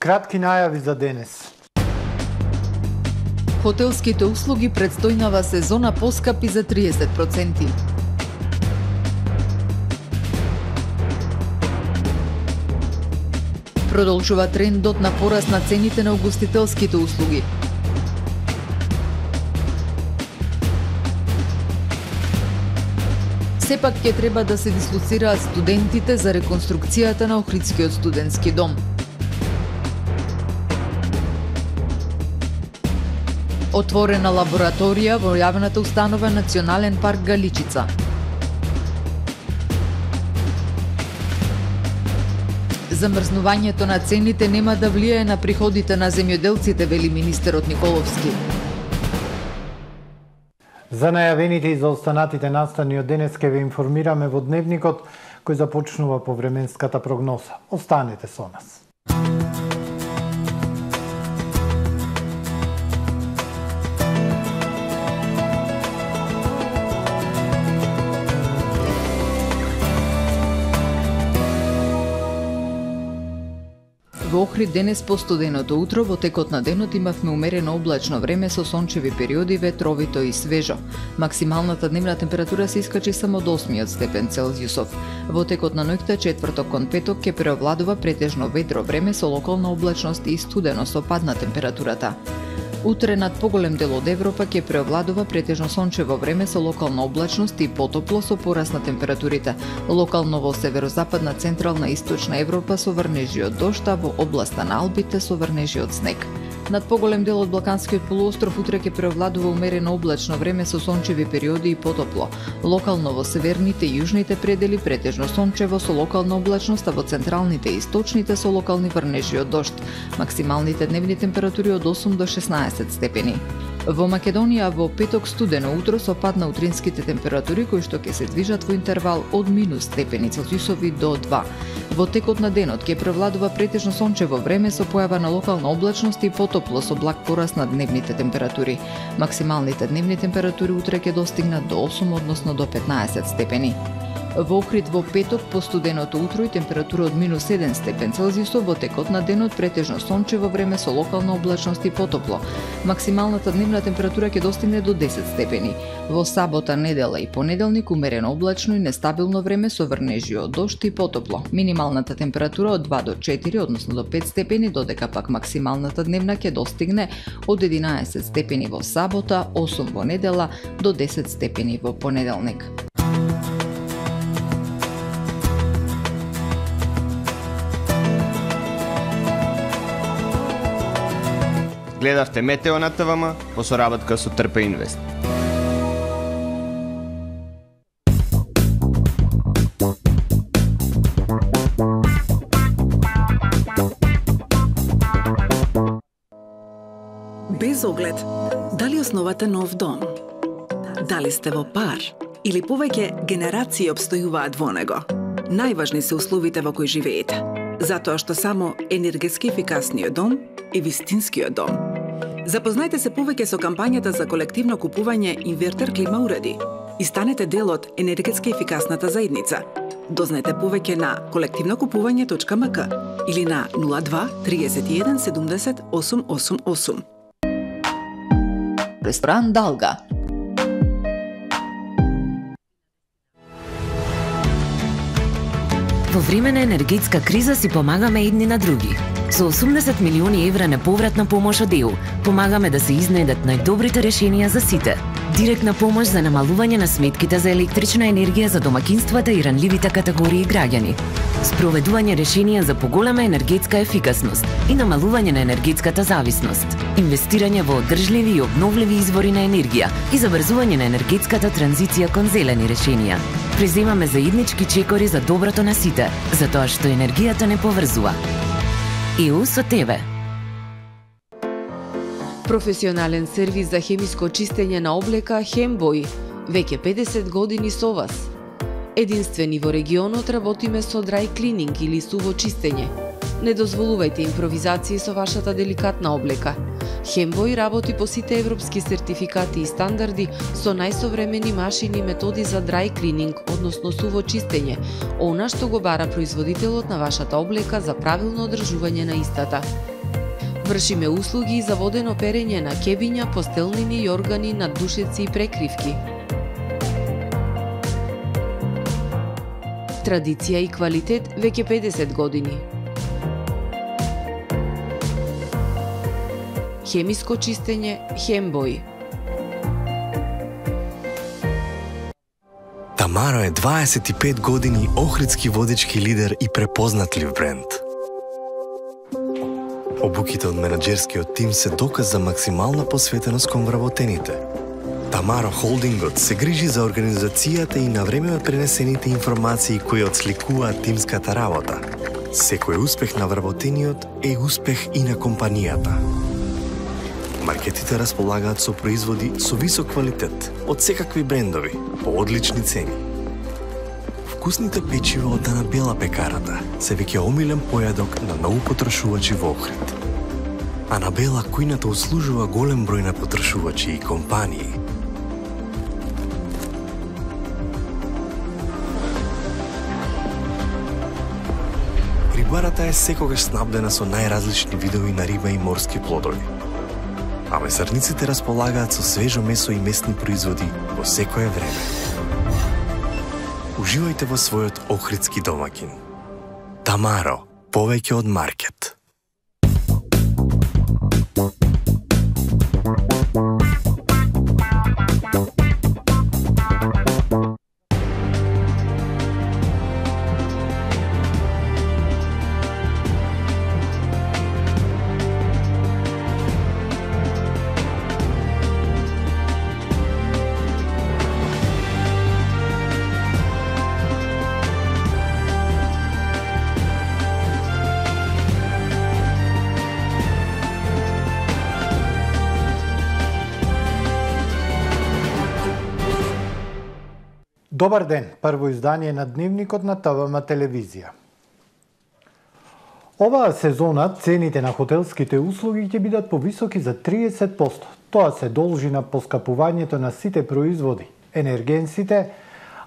кратки најави за денес. Хотелските услуги предстојнава сезона поскапи за 30%. Продолжува трендот на пораст на цените на угостителските услуги. Сепак ќе треба да се дислоцираат студентите за реконструкцијата на Охридскиот студентски дом. Отворена лабораторија во јавната установа Национален парк Галичица. Замрзнувањето на цените нема да влијае на приходите на земјоделците, вели министерот Николовски. За најавените и за останатите настани од денес ќе ве информираме во дневникот кој започнува по временската прогноза. Останете со нас. Во Охрид денес по студеното утро, во текот на денот имавме умерено облачно време со сончеви периоди, ветровито и свежо. Максималната дневна температура се искачи само до 8 степен Целзиусов. Во текот на ноќта, четврток кон петок, ќе преовладува претежно ветро време со локална облачност и студено со пад на температурата. Утре над поголем дел од Европа ќе преовладува претежно сончево време со локална облачност и потопло со пораст на температурите. Локално во северозападна, централна и источна Европа со врнежи од дожд, а во областа на Алпите со врнежи од снег. Над поголем дел од Балканскиот полуостров утре ќе преовладува умерено облачно време со сончеви периоди и потопло. Локално во северните и јужните предели претежно сончево со локална облачност, а во централните и источните со локални врнежи од дожд. Максималните дневни температури од 8 до 16 степени. Во Македонија во петок студено утро со пад на утринските температури кои што ќе се движат во интервал од минус степени Целзиусови до 2. Во текот на денот ќе превладува претежно сончево време со појава на локална облачност и потопло со благ пораст на дневните температури. Максималните дневни температури утре ќе достигнат до 8, односно до 15 степени. Во Охрид во петок по студеното утро и температура од минус 7 степен Целзиусов, во текот на денот претежно сончево време со локална облачност и потопло. Максималната дневна температура ќе достигне до 10 степени. Во сабота, недела и понеделник умерено облачно и нестабилно време со врнежи од дожд и потопло. Минималната температура од 2 до 4, односно до 5 степени, додека пак максималната дневна ќе достигне од 11 степени во сабота, 8 во недела до 10 степени во понеделник. Гледавте Метео на ТВМ по соработка со Трпе Инвест. Без оглед, дали основате нов дом? Дали сте во пар? Или повеќе генерации обстојуваат во него? Најважни се условите во кои живеете, затоа што само енергетски ефикасниот дом е вистинскиот дом. Запознајте се повеќе со кампањата за колективно купување инвертер клима уреди и станете дел од енергетски ефикасната заедница. Дознајте повеќе на колективнокупување.мк или на 02 31 70 888. Ресторан Далга. Во време на енергетска криза си помагаме едни на други. Со 80 милиони евра неповратна помош од ЕУ, помагаме да се изнајдат најдобрите решенија за сите. Директна помош за намалување на сметките за електрична енергија за домакинствата и ранливите категории граѓани. Спроведување решенија за поголема енергетска ефикасност и намалување на енергетската зависност. Инвестирање во одржливи и обновливи извори на енергија и забрзување на енергетската транзиција кон зелени решенија. Преземаме заеднички чекори за доброто на сите, затоа што енергијата не поврзува. ЕУ со тебе. Професионален сервис за хемиско чистење на облека Хембој. Веќе 50 години со вас. Единствени во регионот работиме со dry cleaning или суво чистење. Не дозволувајте импровизации со вашата деликатна облека. Хембој работи по сите европски сертификати и стандарди со најсовремени машини и методи за dry cleaning, односно суво чистење, она што го бара производителот на вашата облека за правилно одржување на истата. Вршиме услуги за водено перење на кебиња, постелнини и органи, наддушеци и прекривки. Традиција и квалитет веќе 50 години. Хемиско чистење Хембој. Тамаро е 25 години охридски водички лидер и препознатлив бренд. Обуките од менаџерскиот тим се доказ за максимална посветеност кон вработените. Тамаро Холдингот се грижи за организацијата и навреме пренесените информации кои отсликуваат тимската работа. Секој успех на вработениот е успех и на компанијата. Маркетите располагаат со производи со висок квалитет од секакви брендови по одлични цени. Вкусните печива од Дана Бела пекарата се веќе омилен појадок на многу потрошувачи во Охрид. Анабела кујната услужува голем број на потрошувачи и компании. Рибарата е секогаш снабдена со најразлични видови на риба и морски плодови. А месарниците располагаат со свежо месо и месни производи во секое време. Уживајте во својот охридски домаќин. Тамаро, повеќе од маркет. Добар ден, прво издание на Дневникот на ТВМ телевизија. Оваа сезона цените на хотелските услуги ќе бидат повисоки за 30%. Тоа се должи на поскапувањето на сите производи, енергенсите,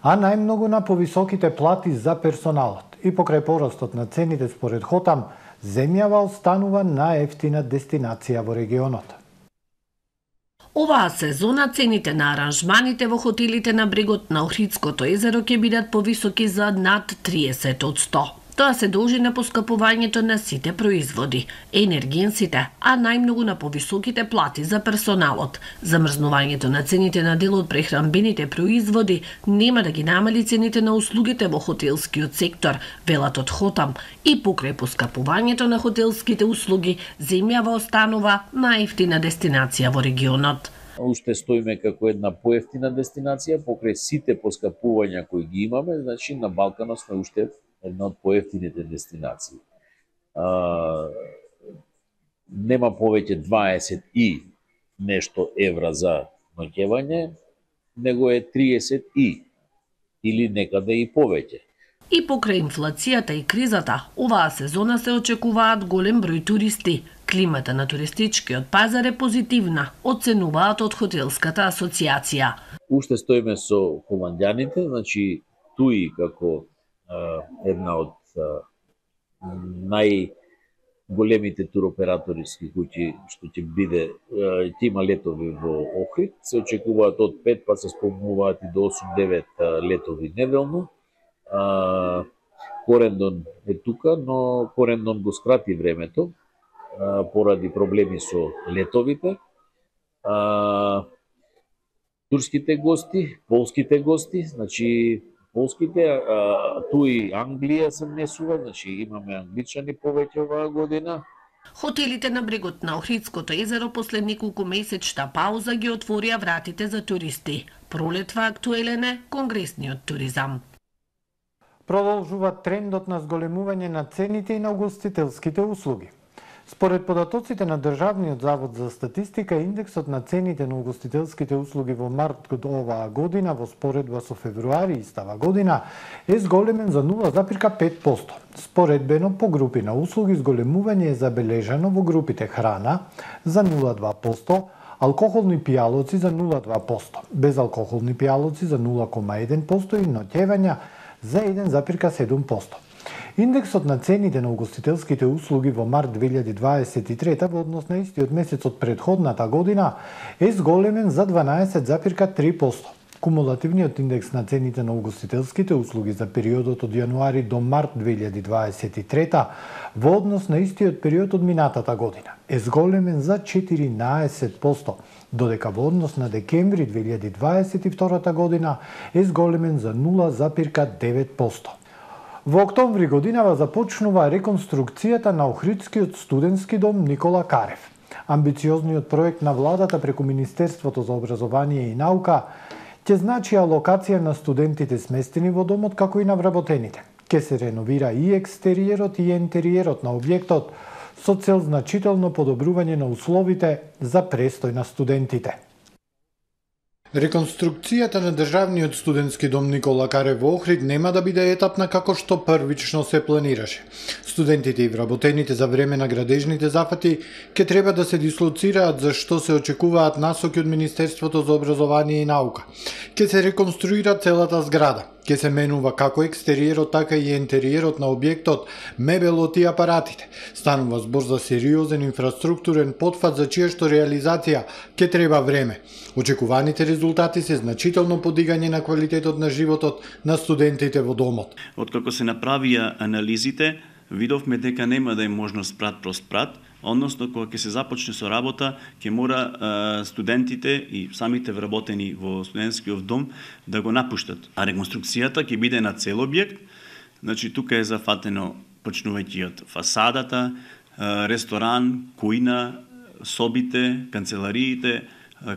а најмногу на повисоките плати за персоналот. И покрај порастот на цените според Хотам, земјава останува најефтина дестинација во регионот. Оваа сезона цените на аранжманите во хотелите на брегот на Охридското езеро ќе бидат повисоки за над 30%. Тоа се должи на поскапувањето на сите производи, енергенсите, а најмногу на повисоките плати за персоналот. Замрзнувањето на цените на дел од прехранбените производи нема да ги намали цените на услугите во хотелскиот сектор, велат од Хотам, и покрај поскапувањето на хотелските услуги, земјава останува најефтина дестинација во регионот. Уште стоиме како една поевтина дестинација покрај сите поскапувања кои ги имаме, значи на Балканот сме уште една од поевтините дестинации. Нема повеќе 20 и нешто евра за ноќевање, него е 30 или некаде и повеќе. И покрај инфлацијата и кризата, оваа сезона се очекуваат голем број туристи. Климата на туристичкиот пазар е позитивна, оценуваат од Хотелската асоциација. Уште стоиме со холандјаните, значи туи како една од најголемите туроператорски куќи што ќе биде, ќе има летови во Охрид, се очекуваат од 5 па се спомнуваат и до 8-9 летови неделно. Корендон е тука, но Корендон го скрати времето поради проблеми со летовите. Турските гости, полските гости, значи полските, туи Англија се внесува, значи имаме англичани повеќе оваа година. Хотелите на брегот на Охридското езеро после неколку месечна пауза ги отворија вратите за туристи. Пролетва актуелен е конгресниот туризам. Продолжува трендот на зголемување на цените и на угостителските услуги. Според податоците на Државниот завод за статистика, индексот на цените на угостителските услуги во март оваа година во споредба со февруари истава година е зголемен за 0,5%. Споредбено по групи на услуги зголемување е забележано во групите храна за 0,2%, алкохолни пијалоци за 0,2%, безалкохолни пијалоци за 0,1% и ноќевања за 1,7%. Индексот на цените на угостителските услуги во март 2023 во однос на истиот месец од претходната година е зголемен за 12,3%. Кумулативниот индекс на цените на угостителските услуги за периодот од јануари до март 2023 во однос на истиот период од минатата година е зголемен за 14%, додека во однос на декември 2022 година е зголемен за 0,9%. Во октомври годинава започнува реконструкцијата на Охридскиот студентски дом Никола Карев. Амбициозниот проект на владата преку Министерството за образование и наука ќе значи алокација на студентите сместени во домот како и на вработените. Ќе се реновира и екстериерот и ентериерот на објектот со цел значително подобрување на условите за престој на студентите. Реконструкцијата на Државниот студентски дом Никола Карев во Охрид нема да биде етапна како што првично се планираше. Студентите и вработените за време на градежните зафати ќе треба да се дислоцираат за што се очекуваат насоки од Министерството за образование и наука. Ќе се реконструира целата зграда. Ќе се менува како екстериерот, така и ентериерот на објектот, мебелот и апаратите. Станува збор за сериозен инфраструктурен потфат за чија што реализација ќе треба време. Очекуваните резултати се значително подигање на квалитетот на животот на студентите во домот. Откако се направија анализите, видовме дека нема да е можно спрат, односно кога ќе се започне со работа, ќе мора студентите и самите вработени во студентскиот дом да го напуштат. А реконструкцијата ќе биде на цел објект, значи тука е зафатено почнувајќи од фасадата, ресторан, кујна, собите, канцелариите,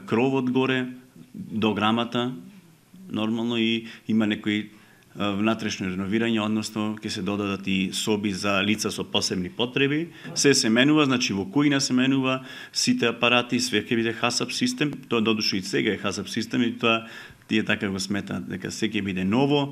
кровот горе, дограмата, нормално и има некои внатрешно реновирање, односно ќе се додадат и соби за лица со посебни потреби. Се менува, значи во кујна се менува, сите апарати, све ќе биде хасап систем, тоа додуша и сега е хасап систем и тоа тие така го сметаат дека се ќе биде ново,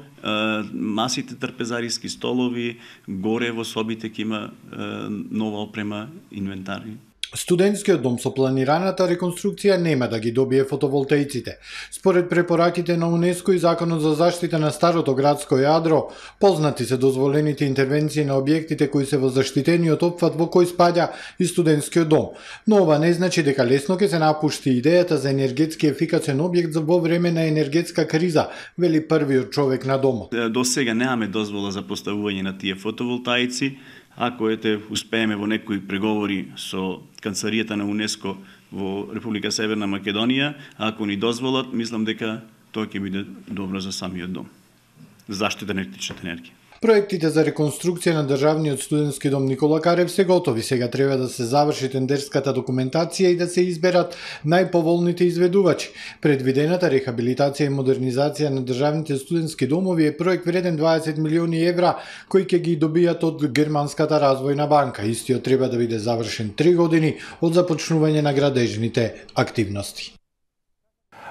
масите трпезариски столови, горе во собите ќе има нова опрема, инвентари. Студентскиот дом со планираната реконструкција нема да ги добие фотоволтаиците. Според препораките на УНЕСКО и Законот за заштита на старото градско јадро, познати се дозволените интервенции на објектите кои се во заштитениот опфат во кој спаѓа и студентскиот дом. Но ова не значи дека лесно ќе се напушти идејата за енергетски ефикасен објект во време на енергетска криза, вели првиот човек на домот. До сега немаме дозвола за поставување на тие фотоволтаици. Ако успееме во некои преговори со канцеларијата на УНЕСКО во Република Северна Македонија, ако ни дозволат, мислам дека тоа ќе биде добро за самиот дом. Заштита на електричната енергија. Проектите за реконструкција на Државниот студентски дом Никола Карев се готови. Сега треба да се заврши тендерската документација и да се изберат најповолните изведувачи. Предвидената рехабилитација и модернизација на државните студентски домови е проект вреден 20 милиони евра, кои ќе ги добијат од Германската развојна банка. Истиот треба да биде завршен 3 години од започнување на градежните активности.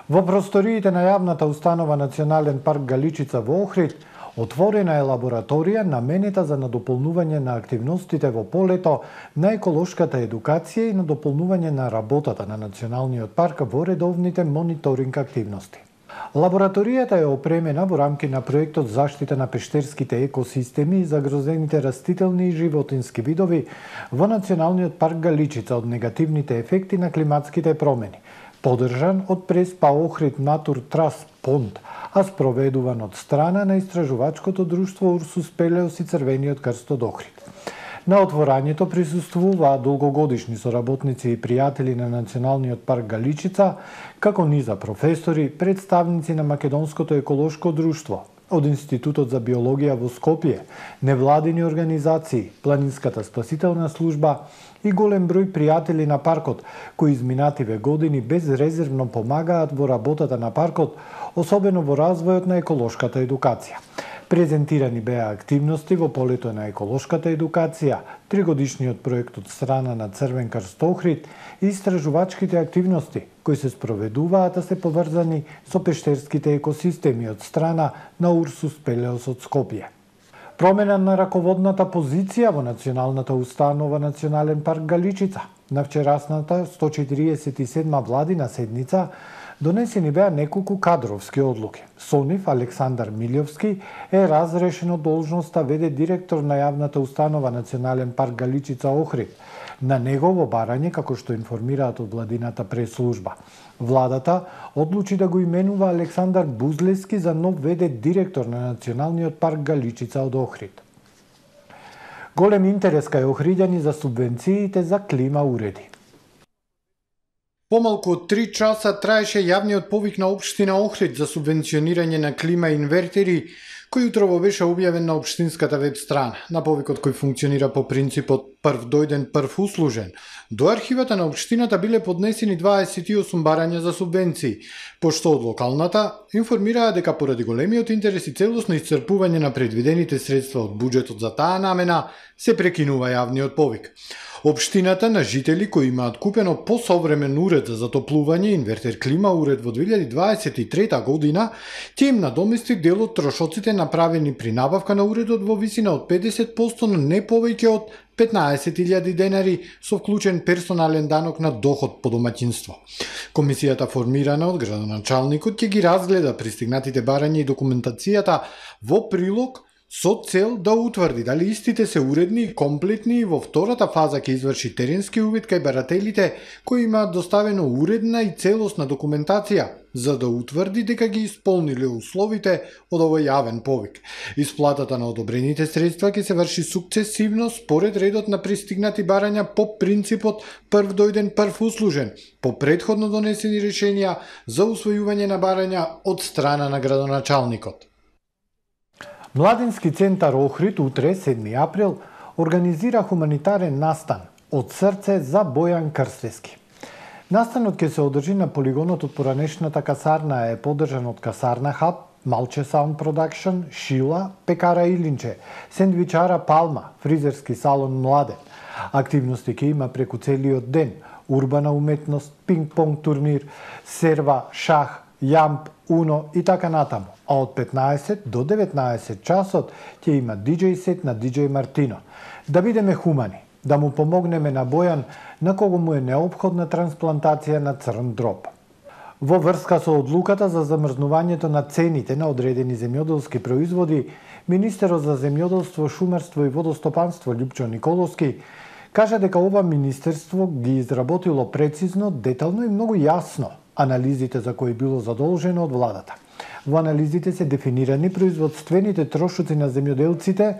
Во просториите на јавната установа Национален парк Галичица во Охрид отворена е лабораторија наменета за надополнување на активностите во полето на еколошката едукација и надополнување на работата на Националниот парк во редовните мониторинг активности. Лабораторијата е опремена во рамки на проектот Заштита на пештерските екосистеми и загрозените растителни и животински видови во Националниот парк Галичица од негативните ефекти на климатските промени, поддржан од Преспа Охрид Натур Трас Понт, а спроведуван од страна на истражувачкото друштво Урсус Пелеос и Црвениот крст од Охрид. На отворањето присуствуваа долгогодишни соработници и пријатели на Националниот парк Галичица, како низа професори, представници на Македонското еколошко друштво, од Институтот за биологија во Скопје, невладини организации, Планинската спасителна служба и голем број пријатели на паркот, кои изминативе години безрезервно помагаат во работата на паркот, особено во развојот на еколошката едукација. Презентирани беа активности во полето на еколошката едукација, тригодишниот проект од страна на Црвен крст Охрид и истражувачките активности, кои се спроведуваат а се поврзани со пештерските екосистеми од страна на Урсус Пелеос од Скопје. Промена на раководната позиција во Националната установа Национален парк Галичица. На вчерасната 147 владина седница Донесени беа неколку кадровски одлуки. Со нив Александар Милјовски е разрешен од должноста веде директор на јавната установа Национален парк Галичица Охрид. На негово барање, како што информираат од владината прес-служба. Владата одлучи да го именува Александар Бузлески за нов веде директор на Националниот парк Галичица од Охрид. Голем интерес кај охриѓани за субвенциите за клима уреди. Помалку од 3 часа траеше јавниот повик на општина Охрид за субвенционирање на клима инвертери, кој утрово беше објавен на општинската веб страна. На повикот кој функционира по принципот прв дојден, прв услужен, до архивата на општината биле поднесени 28 барања за субвенции, пошто од локалната информираа дека поради големиот интерес и целосно исцрпување на предвидените средства од буџетот за таа намена, се прекинува јавниот повик. Општината на жители кои имаат купено посовремен уред за затоплување, инвертер клима уред во 2023 година, ќе им надомести дел од трошоците направени при набавка на уредот во висина од 50%, но не повеќе од 15.000 денари со вклучен персонален данок на доход по домаќинство. Комисијата формирана од градоначалникот ќе ги разгледа пристигнатите барања и документацијата во прилог со цел да утврди дали истите се уредни и комплетни и во втората фаза ќе изврши теренски увид кај барателите кои имаат доставено уредна и целосна документација за да утврди дека ги исполниле условите од овој јавен повик. Исплатата на одобрените средства ќе се врши сукцесивно според редот на пристигнати барања по принципот прв дојден, прв услужен, по претходно донесени решенија за усвојување на барања од страна на градоначалникот. Младински центар Охрид утре, 7 април, организира хуманитарен настан од срце за Бојан Крстески. Настанот ќе се одржи на полигонот од поранешната касарна, е поддржан од Касарна Хаб, Малче Саунд Продакшн, Шила, Пекара Илинче, Сендвичара Палма, фризерски салон Младен. Активности ќе има преку целиот ден, урбана уметност, пинг-понг турнир, серва, шах, јамп, уно и така натаму. А од 15 до 19 часот ќе има диџеј сет на диџеј Мартино. Да бидеме хумани, да му помогнеме на Бојан, на кого му е неопходна трансплантација на црн дроб. Во врска со одлуката за замрзнувањето на цените на одредени земјоделски производи, министерот за земјоделство, шумарство и водостопанство Љупчо Николовски кажа дека ова министерство ги изработило прецизно, детално и многу јасно анализите за кои било задолжено од владата. Во анализите се дефинирани производствените трошоци на земјоделците,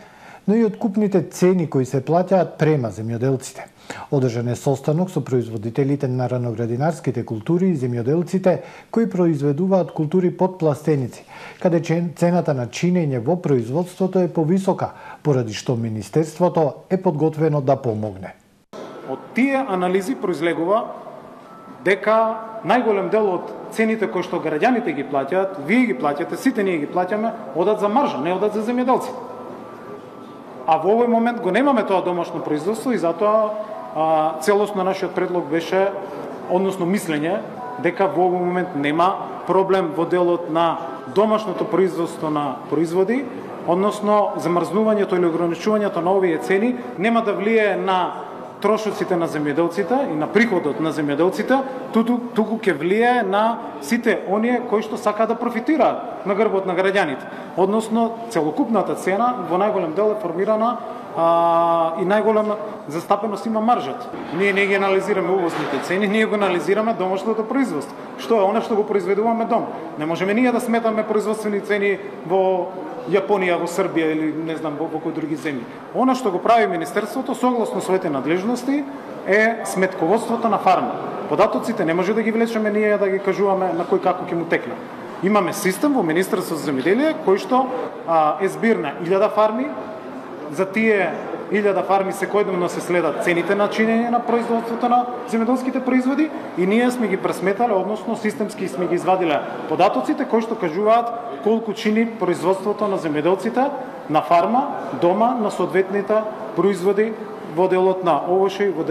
но и откупните цени кои се плаќаат према земјоделците. Одржан е состанок со производителите на раноградинарските култури и земјоделците кои произведуваат култури под пластеници, каде цената на чинење во производството е повисока, поради што министерството е подготвено да помогне. Од тие анализи произлегува дека најголем дел од цените кои што граѓаните ги плаќаат, вие ги плаќате, сите ние ги плаќаме, одат за маржа, не одат за земјоделците. А во овој момент го немаме тоа домашно производство и затоа целосно нашиот предлог беше, односно мислење, дека во овој момент нема проблем во делот на домашното производство на производи, односно замрзнувањето или ограничувањето на овие цени нема да влие на трошоците на земјоделците и на приходот на земјоделците, туку ќе влие на сите оние кои што сакаат да профитираат на грбот на граѓаните. Односно, целокупната цена во најголем дел е формирана и најголема застапеност има маржата. Ние не ги анализираме увозните цени, ние го анализираме домашното производство. Што е она што го произведуваме дом. Не можеме ние да сметаме производствени цени во Јапонија, во Србија или не знам во кои други земји. Она што го прави министерството согласно своите надлежности е сметководството на фарма. Податоците не може да ги влечеме ние да ги кажуваме на кој како ќе му текне. Имаме систем во Министерството за земјоделие кој што е збир на 1000 фарми. За тие 1000 фарми секојдневно се следат цените на чинење на производството на земјоделските производи и ние сме ги пресметале, односно системски сме ги извадиле податоците кои што кажуваат колку чини производството на земјоделците на фарма, дома, на соодветните производи во делот на овошје и во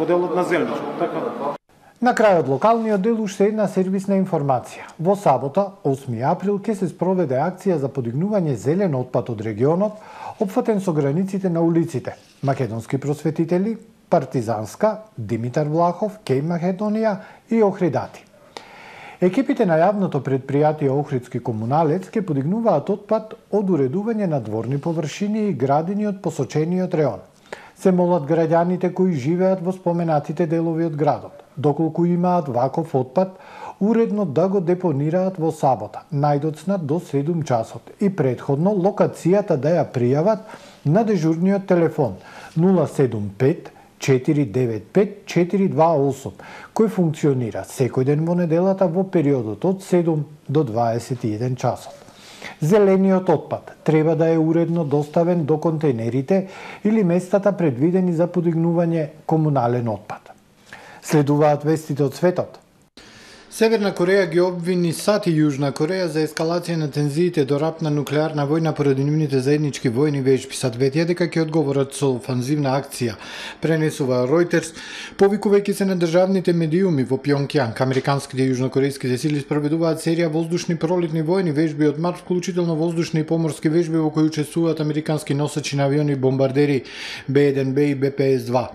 делот на зелничко. Така. На крајот локалниот дел уште една сервисна информација. Во сабота, 8 април, ќе се спроведе акција за подигнување зелен отпад од регионот, опфатен со границите на улиците. Македонски просветители, Партизанска, Димитар Влахов, Кеј Македонија и Охридати. Екипите на јавното предпријатие Охридски комуналец ќе подигнуваат отпад од уредување на дворни површини и градини од посочениот реон. Се молат граѓаните кои живеат во споменатите делови од градот, доколку имаат ваков отпад, уредно да го депонираат во сабота, најдоцна до 7 часот и претходно локацијата да ја пријават на дежурниот телефон 075 495 428, кој функционира секој ден во неделата во периодот од 7 до 21 часот. Зелениот отпад треба да е уредно доставен до контейнерите или местата предвидени за подигнување комунален отпад. Следуваат вестите од светот. Северна Кореја ги обвини САД и Јужна Кореја за ескалација на тензиите до рапна нуклеарна војна поради нивните заеднички војни вежби. САД ветија дека ќе одговорат со офанзивна акција, пренесува Reuters, повикувајќи се на државните медиуми во Пјонкјанг. Американските и јужнокорејските сили спроведуваат серија воздушни пролетни војни вежби од март, вклучително воздушни и поморски вежби во кои учествуваат американски носачи на авиони и бомбардери Б-1Б и БПС-2.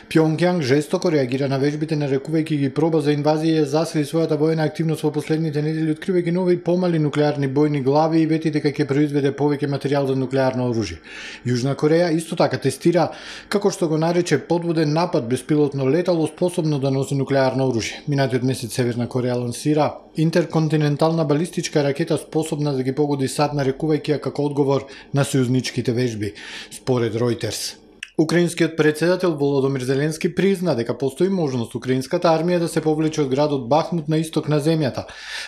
Пјонкјанг жестоко реагира на вежбите, нарекувајќи ги проба за инвазија и засили својата војна активност во последните недели, откривајќи нови и помали нуклеарни бојни глави и вети дека ќе произведе повеќе материјал за нуклеарно оружје. Јужна Кореја исто така тестира, како што го нарече, подводен напад беспилотно летало способно да носи нуклеарно оружје. Минатиот месец Северна Кореја лансира интерконтинентална балистичка ракета способна да ги погоди САД, нарекувајќи ја како одговор на сојузничките вежби, според Reuters. Украинскиот председател Володомир Зеленски призна дека постои можност украинската армија да се повлече од градот Бахмут на исток на земјата.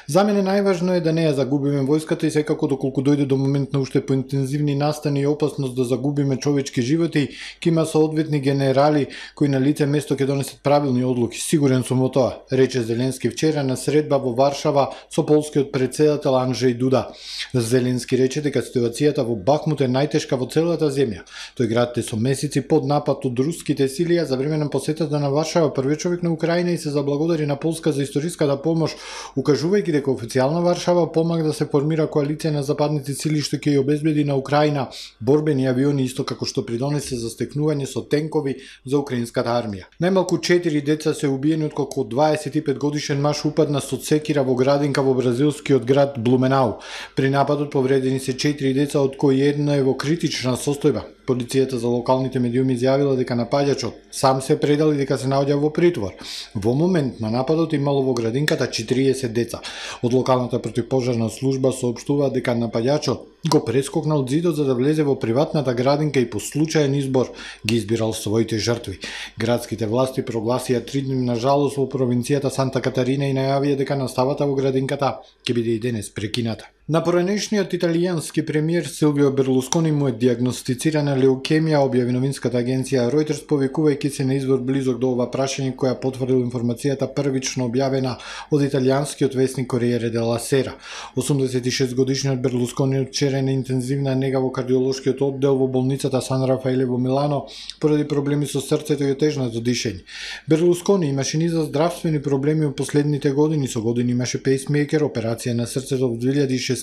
За мене најважно е да не ја загубиме војската и секако доколку дојде до момент на уште поинтензивни настани и опасност да загубиме човечки животи, ќе има соодветни генерали кои на лице место ќе донесат правилни одлуки. Сигурен сум во тоа, рече Зеленски вчера на средба во Варшава со полскиот председател Анджеј Дуда. Зеленски рече дека ситуацијата во Бахмут е најтешка во целата земја. Тој град е со месеци под напад од руските сили, а за време на посетата на Варшава првиот човек на Украина и се заблагодари на Полска за историската помош, укажувајќи дека официјална Варшава помага да се формира коалиција на западните сили што ќе ја обезбеди на Украина борбени авиони, исто како што придонесе за стекнување со тенкови за украинската армија. Најмалку 4 деца се убиени откако 25 годишен маж упадна со секира во градинка во бразилскиот град Блуменау. При нападот повредени се 4 деца, од кои едно е во критична состојба. Полицијата за локалните медиуми изјавила дека напаѓачот сам се предал и дека се наоѓа во притвор. Во момент на нападот имало во градинката 40 деца. Од локалната противпожарна служба соопштува дека напаѓачот го прескокнал зидот за да влезе во приватната градинка и по случаен избор ги избирал своите жртви. Градските власти прогласија 3-дневна жалост во провинцијата Санта Катарина и најавија дека наставата во градинката ќе биде и денес прекината. На поранешниот италијански премиер Силвио Берлускони му е диагностицирана леукемија, објави новинската агенција Reuters, повикувајќи се на извор близок до ова прашање, која потврдил информацијата првично објавена од италијанскиот весник Corriere della Sera. 86 годишниот Берлускони вчера е на интензивна нега во кардиолошкиот оддел во болницата Сан Рафаеле во Милано поради проблеми со срцето и отежнато дишење. Берлускони имаше низ здравствени проблеми во последните години, со години имаше пейсмейкер, операција на срцето во 2016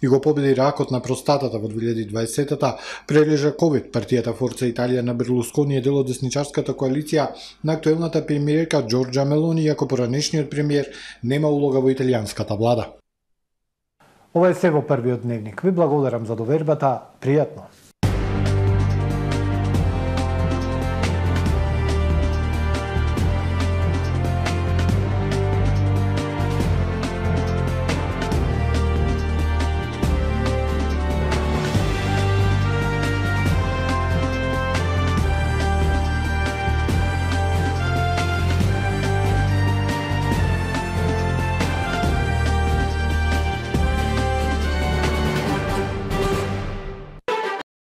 и го победи ракот на простатата во 2020-та, прележа ковид. Партијата Форца Италија на Берлускони е дел од десничарската коалиција на актуелната премиерка Џорџа Мелони, иако поранешниот премиер нема улога во италијанската влада. Ова е се во првиот дневник. Ви благодарам за довербата. Пријатно.